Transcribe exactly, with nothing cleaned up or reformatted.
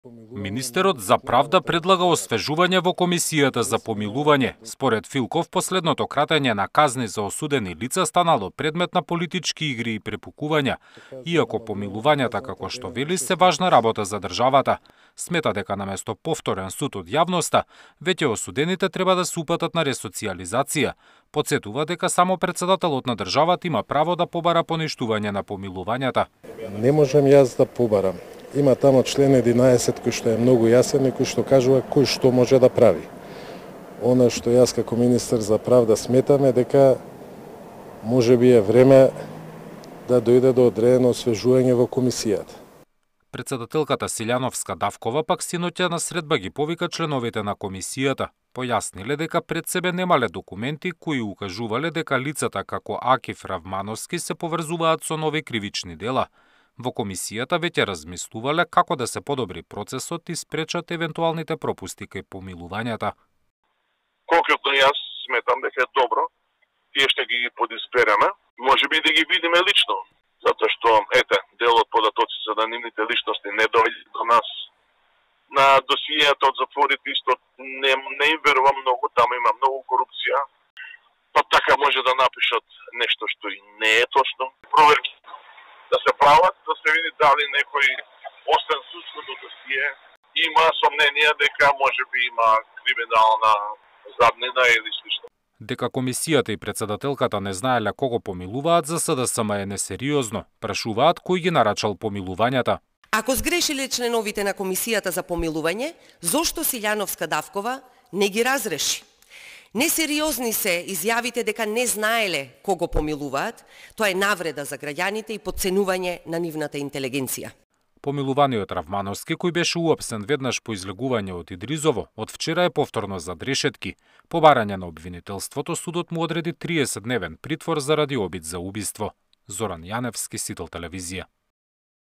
Министерот за правда предлага освежување во Комисијата за помилување. Според Филков, последното кратење на казни за осудени лица станало предмет на политички игри и препукувања, иако помилувањата, како што вели, се важна работа за државата. Смета дека наместо повторен суд од јавноста, веќе осудените треба да се упатат на ресоциализација. Потсетува дека само председателот на државата има право да побара поништување на помилувањата. Не можам јас да побарам. Има тамо член единаесет кој што е многу јасен и кој што кажува кој што може да прави. Она што јас како министер за правда сметаме дека може би е време да дојде до одредено освежување во комисијата. Председателката Силјановска Давкова пак синоќа на средба ги повика членовите на комисијата. Појасниле дека пред себе немале документи кои укажувале дека лицата како Акиф Равмановски се поврзуваат со нови кривични дела. Во комисијата веќе размислувале како да се подобри процесот и спречат евентуалните пропусти кај помилувањата. Конкретно јас сметам дека е добро, тие што ги подизбереме, може би да ги видиме лично, затоа што ете, дел од податоци за анонимните личности не дојде до нас. На досијата од затворите исто не, не им верувам многу, таму има многу корупција, па така може да напишат нешто што и не е точно. Проверки да се прават, да се види дали некој освен судското досие има сомненија дека може би има криминална заднина или слично. Дека комисијата и председателката не знаеле кого помилуваат за СДСМ е несериозно. Прашуваат кој ги нарачал помилувањата. Ако сгрешиле членовите на комисијата за помилување, зошто Силјановска Давкова не ги разреши? Несериозни се изјавите дека не знаеле кого помилуваат, тоа е навреда за граѓаните и потценување на нивната интелигенција. Помилуваниот Равмановски, кој беше уапсен веднаш по излегување од Идризово, од вчера е повторно за решетки. По барање на обвинителството, судот му одреди триесет дневен притвор заради обид за убиство. Зоран Јаневски, Сител телевизија.